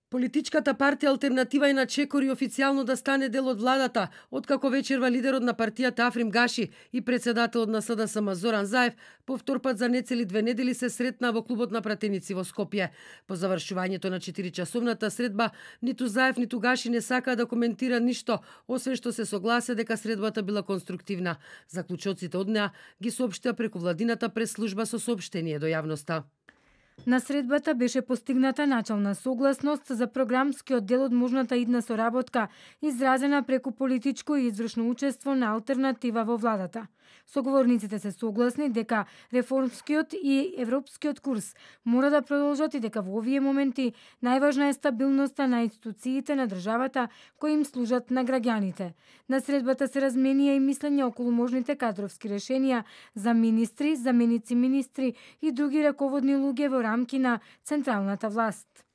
Политичката партија Алтернатива е на чекори официјално да стане дел од владата, откако вечерва лидерот на партијата Африм Гаши и председателот на СДСМ Зоран Заев повторпат за нецели 2 недели се сретнаа во клубот на пратеници во Скопје. По завршувањето на 4-часовната средба, ниту Заев ниту Гаши не сакаа да коментира ништо, освен што се согласе дека средбата била конструктивна. Заклучоците од неа ги соопштија преку владината прес-служба со соопштение до јавноста. На средбата беше постигната начална согласност за програмскиот дел од можната идна соработка, изразена преку политичко и извршно учество на Алтернатива во владата. Соговорниците се согласни дека реформскиот и европскиот курс мора да продолжат и дека во овие моменти најважна е стабилноста на институциите на државата кои им служат на граѓаните. На средбата се разменија и мислења околу можните кадровски решенија за министри, заменици министри и други раководни луѓе во рамки на централната власт.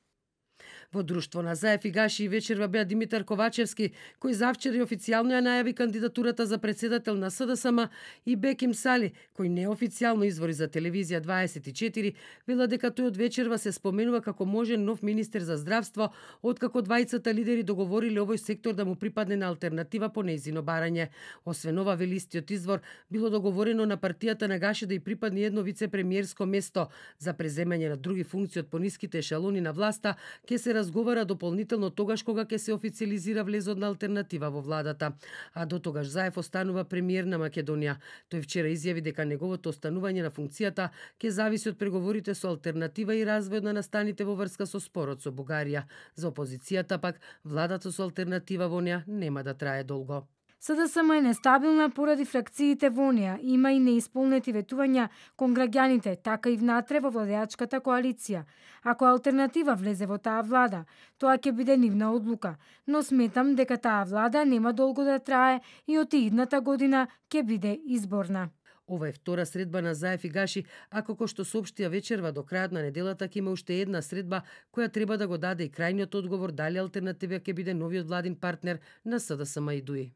Во друштво на Заев и Гаши вечерва беа Димитар Ковачевски, кој завчера официјално ја најави кандидатурата за председател на СДСМ, и Беким Сали, кој неофицијално извори за телевизија 24 вела дека тој од вечерва се споменува како можен нов министер за здравство, откако двајцата лидери договориле овој сектор да му припадне на Алтернатива по нејзино барање. Освен ова, вели истиот извор, било договорено на партијата на Гаши да ѝ припадне едно вице-премиерско место за преземање на други функции од пониските ешелони на власта, ќе се разговара дополнително тогаш кога ќе се официализира влезот на Алтернатива во владата. А до тогаш Заев останува премиер на Македонија. Тој вчера изјави дека неговото останување на функцијата ќе зависи од преговорите со Алтернатива и развојот на настаните во врска со спорот со Бугарија. За опозицијата пак, владата со Алтернатива во неа нема да трае долго. СДСМ е нестабилна поради фракциите во неа. Има и неисполнети ветувања кон граѓаните, така и внатре во владеачката коалиција. Ако Алтернатива влезе во таа влада, тоа ќе биде нивна одлука, но сметам дека таа влада нема долго да трае и од идната година ќе биде изборна. Ова е втора средба на Заев и Гаши, а како што соопштија вечерва до крајот на неделата ќе има уште една средба која треба да го даде и крајниот одговор дали Алтернатива ќе биде новиот владин партнер на СДСМ и ДУИ.